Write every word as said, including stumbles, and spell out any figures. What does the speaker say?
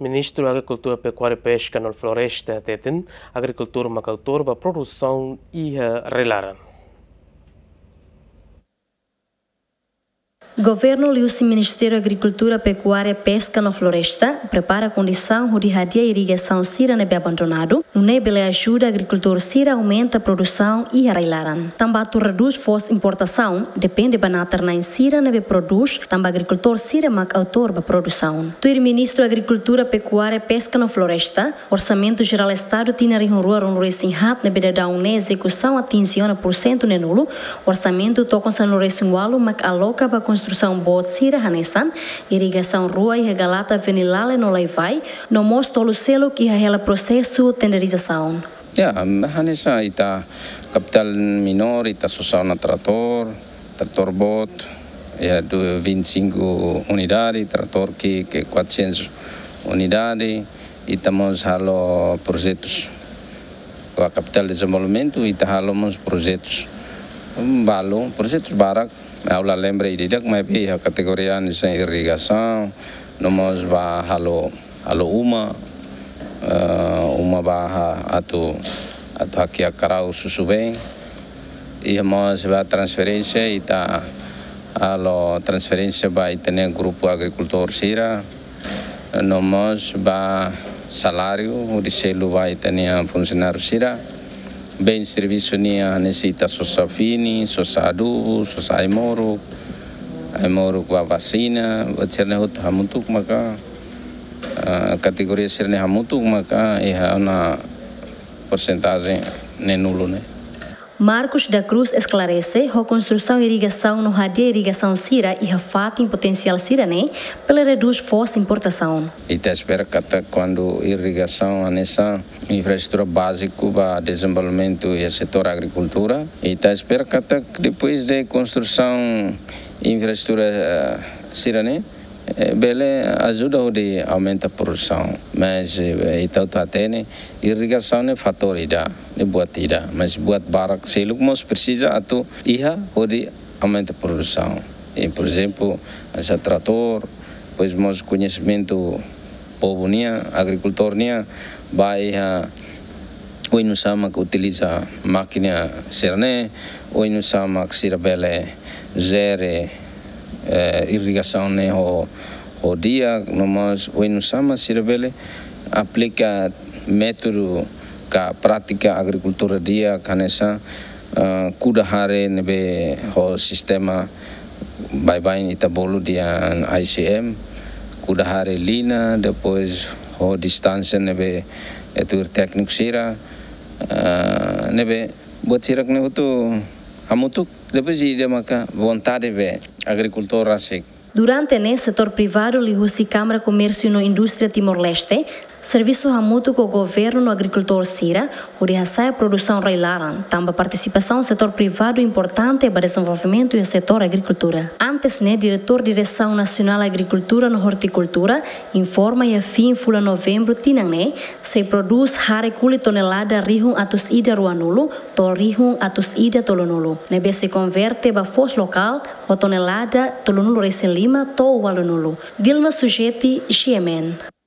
Ministru Agrikultura, Pekuária, Peska no Floresta hateten, agrikultór mak autór ba produsaun iha rai-laran. Governu liuhusi Ministériu Agrikultura, Pekuária, Peska no Floresta prepara kondisaun hodi hadi'a irrigasaun sira ne'ebé abandonadu, nune'e bele ajuda agrikultór sira aumenta produsaun iha rai-laran. Tanba atu redús foos importasaun, depende ba natar-na'in sira ne'ebé prodús, tanba agrikultór sira mak autór ba produsaun. Tuir Ministru Agrikultura, Pekuária, Peska no Floresta, Orsamentu Jerál Estadu tinan rihun rua ruanulu-resin-haat ne'ebé daudaun ne'e ezekusaun atinje ona pursentu neenulu, orsamentu tokon sanulu-resin-ualu mak aloka ba konstrusaun boot sira hanesan irrigasaun rua iha Galata Venilale no Laivai, no mós tolu seluk iha hela prosesu tenderizasaun. Ya, hanesan ita kapitál menór, ita sosa ona tratór, tratór boot, ya, du-, vinte e cinco unidade, tratór ki'ik quatrocentos unidade, ita mós halo projetus. Ba kapitál dezenvolvimentu, ita halo mós projetus. Balu, projetus barak, ha'u la lembra ida-idak, maibé iha kategoria hanesan irrigasaun, no mós ba halo, halo uma, eh, uma ba ha-, atu, atu hakiak karau susubeen. Iha mós ba transferénsia, ita halo transferénsia ba ita-nia grupu agrikultór sira, no mós ba saláriu hodi selu ba ita-nia funsionáriu sira. Bens servisu nian hanesan ita sosa fini, sosa adubu, sosa ai-moruk, ai-moruk ba vasina, buat sira-ne'e hotu hamutuk maka, ah, kategoria sira-ne'e hamutuk maka iha ona porsentajen neenulu ne'e. Marcos da Cruz esklarese, ho konstrusaun irrigasaun no hadi'a irrigasaun sira iha fatin potensiál sira-ne'e, bele redús foos importasaun. Ita espera katak kuandu irrigasaun hanesan infraestrutura báziku ba dezenvolvimentu iha setór agrikultura, ita espera katak depois de konstrusaun infraestrutura, eh, sira-ne'e, eh, bele ajuda hodi aumenta produsaun. Mas, eh, ita hotu hatene, irrigasaun ne'e fatór ida, ne'e buat ida. Mas buat barak seluk mós presiza atu iha hodi aumenta produsaun. E, por ezemplu, hanesan tratór, depois mós koñesimentu povu nian, agrikultór nian, ba iha oinsá mak utiliza mákina sira-ne'e, oinsá mak sira bele jere, eh, irrigasaun ne'e ho, ho di'ak, no mós oinsá mak sira bele aplika métodu ka prátika agrikultura di'ak hanesan, eh, kuda hare ne'ebé ho sistema baibain ita bolu dehan I C M, kuda hare lina, depois ho distánsia ne'ebé, eh, tuir tékniku sira, ah, ne'ebé buat sira-ne'e hotu hamutuk, depois ida maka vontade be agrikultór rasik. Durante ne'e setór privadu liuhusi Kámara Komérsiu no Indústria Timor-Leste servisu hamutuk ho governu no agrikultór sira, hodi hasa'e produsaun rai-laran, tanba partisipasaun setór privadu importante ba dezenvolvimentu iha setór agrikultura. Antes ne'e, Diretór Diresaun Nasionál Agrikultura no Ortikultura informa iha fin fulan Novembru tinan ne'e, sei prodús hare kulit tonelada rihun atus ida ruanulu to'o rihun atus ida tolunulu, ne'ebé sei konverte ba foos lokál ho tonelada tolunulu-resin-lima to'o ualunulu. Dilma Sujeti, G M N.